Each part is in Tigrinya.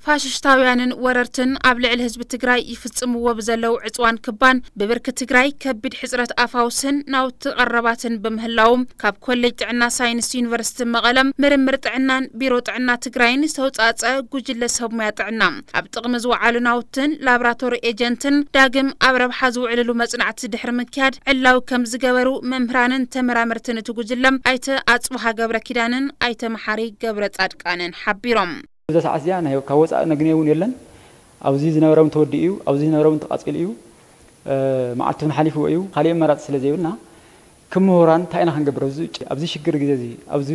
ፋሽሽታውያንን ወረርትን ኣብ ልዕሊ ህዝቢ ትግራይ ይፍጽምዎ ብዘለዉ ዕጽዋን ክባን ብብርኪ ትግራይ ከቢድ ሕጽረት ኣፋውስን ናውቲ ቀረባትን ብምህላዎም ካብ ኮሌጅ ጥዕና ሳይንስ ዩኒቨርሲቲ መቐለም ምርምር ጥዕናን ቢሮ ጥዕና ትግራይን ዝተውጻጸ ጉጅለ ሰብ ሞያ ጥዕና ኣብ ጥቕሚ ዝወዓሉ ናውትን ላብራቶሪ ኤጀንትን ዳግም ኣብ ረብሓ ዝውዕልሉ መጽናዕቲ ድሕሪ ምክያድ ዕላዊ ከም ዝገበሩ መምህራንን ተመራመርትን እቲ ጉጅለ ኣይተ ኣጽብሃ ገብረ ኪዳንን ኣይተ መሓሪ ገብረ ጻድቃንን ሓቢሮም። እዛ ሰዓት እዚኣ ናይ ካብ ወፃኢ ነግንየ እውን የለን። ኣብዚ ዝነበረ እውን ተወዲኡ እዩ፣ ኣብዚ ዝነበረ እውን ተቓፂሉ እዩ። መዓልቲ እውን ሓሊፍዎ እዩ። ካሊእ ኣማራፂ ስለ ዘይብልና ከም ምሁራን እንታይ ኢና ክንገብር? ኣብዚ ውጭ ኣብዚ ሽግር ግዜ እዚ ኣብዚ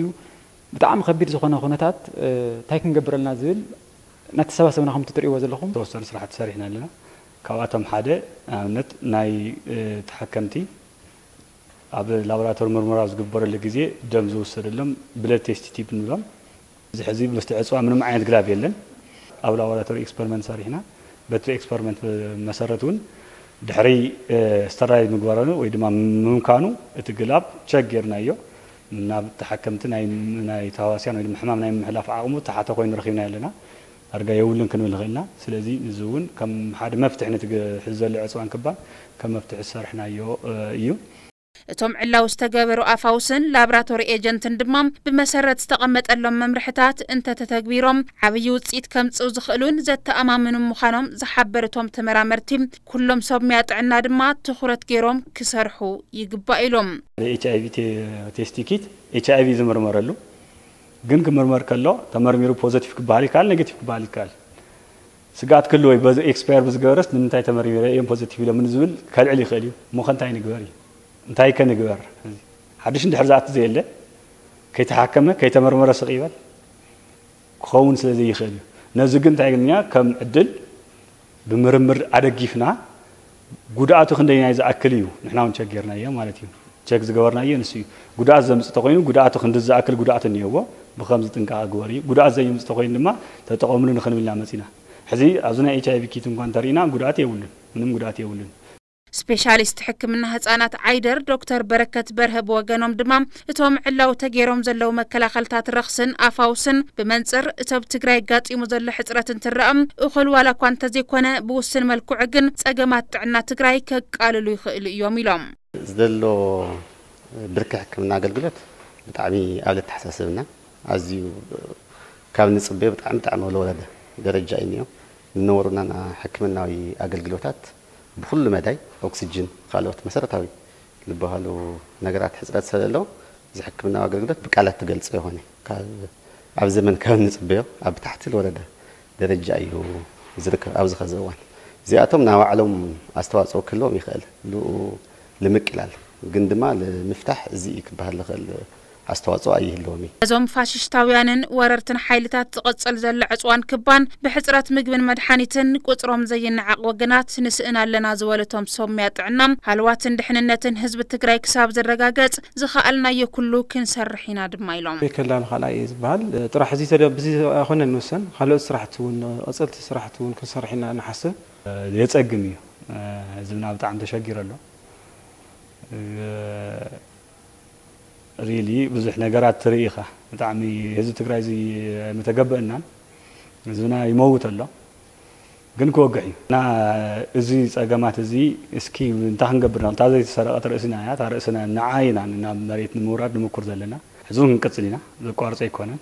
ብጣዕሚ ከቢድ ዝኾነ ኩነታት እንታይ ክንገብር ኣለና ዝብል እናተሰባሰብና ከምቲ ትሪእዎ ዘለኹም ዝተወሰኑ ስራሕቲ ሰሪሕና ኣለና። ካብኣቶም ሓደ ንኣብነት ናይ ተሓከምቲ ኣብ ላቦራቶሪ ምርመራ ዝግበረሉ ግዜ ደም ዝውሰደሎም ብለድ ቴስት ቲፕ ንብሎም። እዚ ሕዚ ምስቲ ዕፅዋ ምንም ዓይነት ግላብ የለን። ኣብ ላቦራቶሪ ኤክስፐሪመንት ሰሪሕና በቲ ኤክስፐሪመንት መሰረት እውን ድሕሪ ስተራይል ምግባረኑ ወይ ድማ ምምካኑ እቲ ግላብ ቸክ ጌርናዮ። ናብ ተሓከምቲ ናይ ናይ ተሃዋስያን ወይ ድማ ሕማም ናይ ምሕላፍ ዓቕሙ ተሓተ ኮይኑ ረኺብና ኣለና። ዳርጋ የብሉን ክንብል ንኽእል ኢና። ስለዚ እዚ እውን ከም ሓደ መፍትሒ ነቲ ሕዚ ዘሎ ዕፅዋን ክባን ከም መፍትሒ ዝሰርሕናዮ እዩ። እቶም ዕላዊ ዝተገበሩ ኣፋውስን ላብራቶሪ ኤጀንትን ድማ ብመሰረት ዝተቐመጠሎም መምርሕታት እንተተተግቢሮም ዓብዪ ውፅኢት ከምፅኡ ዝኽእሉን ዘተኣማምኑ ምዃኖም ዝሓበሩ እቶም ተመራመርቲ ኩሎም ሰብ ሙያ ጥዕና ድማ ትኹረት ገይሮም ክሰርሑ ይግባእ ኢሎም። ኤች ኣይ ቪ ቴስቲ ኪት ኤች ኣይ ቪ ዝምርመረሉ ግን ክምርመር ከሎ ተመርሚሩ ፖዘቲቭ ክበሃል ይከኣል፣ ኔጌቲቭ ክበሃል ይከኣል። ስግኣት ክህልዎ እዩ። በዚ ኤክስፓየር ብዝገበረስ ንምንታይ ተመርሚረ እዮም ፖዘቲቭ ኢሎምኒ ዝብል ከልዕል ይኽእል እዩ። እሞ ከ እንታይ ንግበር እዩ? እንታይ ከ ንግበር? ሓድሽ እንድሕር ዝኣቱ ዘየለ ከይተሓከመ ከይተመርመረ ስቕ ይበል ክኸውን ስለ ዘይኽእል እዩ። ነዚ ግን እንታይ ኢልና ከም ዕድል ብምርምር ኣደጊፍና ጉድኣቱ ክንደይናይ ዝኣክል እዩ ንሕና እውን ቸክ ጌርናዮ ማለት እዩ። ቸክ ዝገበርናዮ ንሱ እዩ። ጉድኣት ዘምፅእ ተኮይኑ ጉድኣቱ ክንዲ ዝኣክል ጉድኣት እኒኦዎ ብከምዚ ጥንቃቐ ግበር እዩ። ጉድኣት ዘየምፅእ ተኮይኑ ድማ ተጠቐምሉ ንክንብል ኢና መፂና። ሕዚ ኣብዚ ናይ ኤች ኣይ ቪ ኪት እንኳ እንተሪእና ጉድኣት የብሉን፣ ምንም ጉድኣት የብሉን። ስፔሻሊስት ሕክምና ህጻናት ዓይደር ዶክተር በረከት በርሀ ብወገኖም ድማ እቶም ዕላዊ ተገይሮም ዘለዉ መከላኸልታት ረኽስን ኣፋውስን ብመንፅር እቲ ኣብ ትግራይ ኣጋጢሙ ዘሎ ሕፅረት እንትረኣ እኹል ዋላ እኳ እንተዘይኮነ ብውስን መልክዑ ግን ጸገማት ጥዕና ትግራይ ከቃልሉ ይኽእሉ እዮም ኢሎም። ዘሎ ብርኪ ሕክምና ኣገልግሎት ብጣዕሚ ኣብ ለተሓሳስብና ኣዝዩ ካብ ንፅበዮ ብጣዕሚ ብጣዕሚ ወለወረደ ደረጃ እዩ እኒኦ። ንነበሩና ሕክምናዊ ኣገልግሎታት ብኩሉ መዳይ ኦክስጅን ካልኦት መሰረታዊ ዝበሃሉ ነገራት ሕፅረት ስለዘለዎ እዚ ሕክምናዊ ኣገልግሎት ብቃላት ትገልፆ ይኾነ ኣብ ዘመን ካብ ንፅበዮ ኣብ ታሕቲ ዝወረደ ደረጃ እዩ ዝርከብ ኣብዚ ኸዚ እዋን። እዚኣቶም ናይ ባዕሎም ኣስተዋፅኦ ክህልዎም ይኽእል ብኡ ንምቅላል ግን ድማ ንምፍታሕ እዚ እዩ ክበሃል ዝኽእል ኣስተዋፅኦ ኣይህልዎም እዩ። እዞም ፋሽሽታውያንን ወረርትን ሓይልታት ዝቕፅል ዘሎ ዕፅዋን ክባን ብሕፅረት ምግብን መድሓኒትን ቁፅሮም ዘይነዓቕ ወገናት ንስእን ኣለና ዝበሉ እቶም ሰብ ሙያ ጥዕና ሃልዋትን ድሕንነትን ህዝቢ ትግራይ ክሳብ ዝረጋገፅ ዝኸኣልናዮ ኩሉ ክንሰርሕ ኢና ድማ ኢሎም። ቤከላ ንኻልኣይ እየ ዝበሃል ጥራሕ እዚ ተደ ብዚ ኣይኮነ ንውሰን ካልኦት ስራሕቲ እውን ቀፀልቲ ስራሕቲ እውን ክንሰርሕ ኢና ንሓስብ። የፀግም እዩ ህዝብና ብጣዕሚ ተሸጊሩ ኣሎ። ሪሊ ብዙሕ ነገራት ትርኢ ኢኻ። ብጣዕሚ ህዝቢ ትግራይ እዚ ኣይምተገበአናን። ህዝብና ይመውት ኣሎ። ግን ክወግሕ እዩ። እና እዚ ፀገማት እዚ እስኪ እንታይ ክንገብር ኢና? እታ ዘይተሰረቐት ርእስና እያ። እታ ርእስና ንዓ ኢና ናብ መሬት ንምውራድ ንምኩር ዘለና። ሕዚ እውን ክንቅፅል ኢና። ዘቋርፅ ኣይኮነን።